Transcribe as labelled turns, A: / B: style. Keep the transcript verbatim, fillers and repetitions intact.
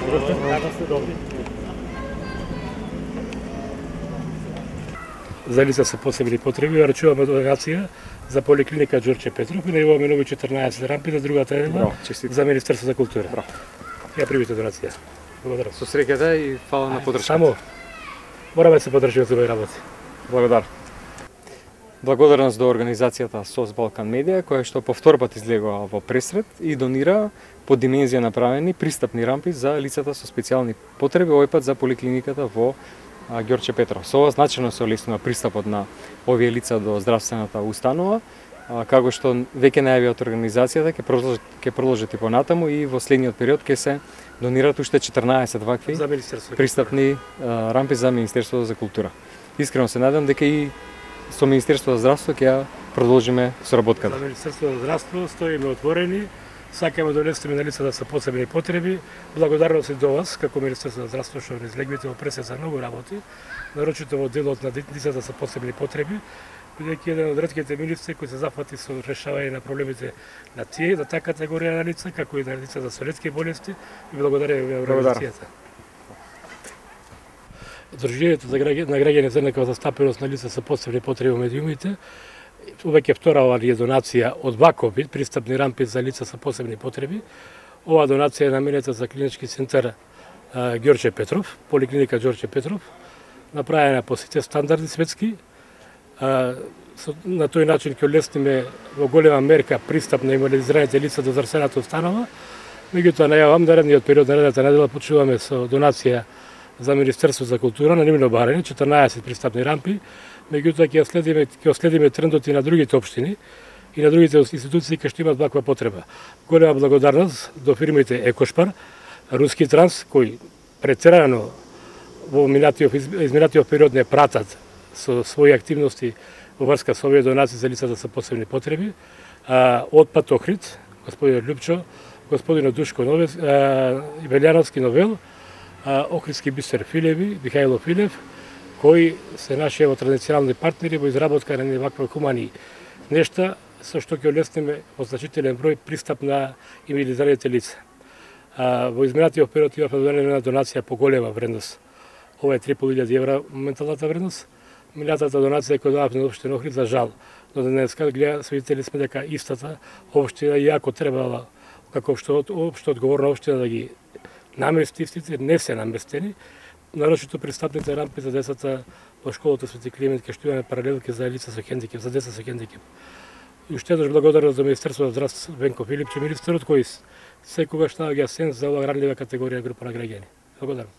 A: Надам се добри.
B: За лица со посебни потреби рачуваме донација за поликлиника Ѓорче Петров и најавуваме нови четрнаесет рампи за другата една за Министерство за култура.
C: Браво.
B: Ја примите донација. Благодарам.
C: Со среќата и фала на подршката.
B: Само мораме да се подржиме за овој работи.
C: Благодарам. Благодарност до организацијата СОС Балкан Медија, која што по втор пат излегува во пресрет и донира по димензија направени пристапни рампи за лицата со специјални потреби, овој пат за поликлиниката во Ѓорче Петров. Со ова значено се олеснува пристапот на овие лица до здравствената установа, како што веќе најави од организацијата ќе продолжат ќе продолжат и понатаму и во следниот период ќе се донираат уште четрнаесет вакви пристапни рампи за Министерството за култура. Искрено се надам дека и со Министерството за здравство ќе ја продолжиме соработката.
B: За Министерството за здравство стоиме отворени, сакаме да улеснеме на лицата со посебни потреби. Благодарност и до вас, како Министерство за здравство, што излегвите во пресет за многу работи, нарочито во делот на лицата со посебни потреби, бидејќи еден од ретките министри кои се зафати со решавање на проблемите на тие, на таа категорија на лица, како и на лицата со ретки болести, и благодарам ви организацијата. Одружението на граѓани за некоја застапеност на лица со посебни потреби во медиумите, веќе втора ова е донација од ваков вид, пристапни рампи за лица со посебни потреби. Ова донација е наменета за клинички центар Ѓорче Петров, поликлиника Ѓорче Петров, направена по сите стандарди светски. На тој начин ќе олесниме во голема мерка пристап на инвалидизираните лица до здравствената установа. Меѓутоа најавам наредниот период, наредната недела почуваме со донација за Министерство за култура на нивно барање, четрнаесет пристапни рампи. Меѓутоа ќе следиме ќе следиме трендот и на другите општини и на другите институции кои што имаат ваква потреба. Голема благодарност до фирмите Екошпар, Руски Транс, кои претерано во минатиот изминатиот период не пратат со своји активности во врска со овие донации за лицата со посебни потреби. Отпад Охрид, господин Лјупчо, господин Душко Новец, Велјановски Новел, Охридски бисер Филеви, Михајло Филев, кои се наши ево традиционални партнери во изработка на вакви хумани нешта, со што ќе олесниме во значителен број пристап на инвалидизираните лица. Во изминатиот период имавме донесена донација по голема вредност. Ова е три и пол илјади евра моменталната вредност. Минатата донација која дававме на општина Охрид, за жал, но денеска гледа свидетели сме дека истата општина иако требала како што општо одговорна општина да ги намести истите, не се наместени. Нарочито пристапните рампи за децата во школата Свети Климент, ке што имаме паралелки за лица со хендикеп, за деца со хендикеп. И уште еднаш благодарност за Министерството за здравство Венко Филипче, министерот кој секогаш наоѓа сенс за оваа ранлива категорија група на граѓани. Благодарам.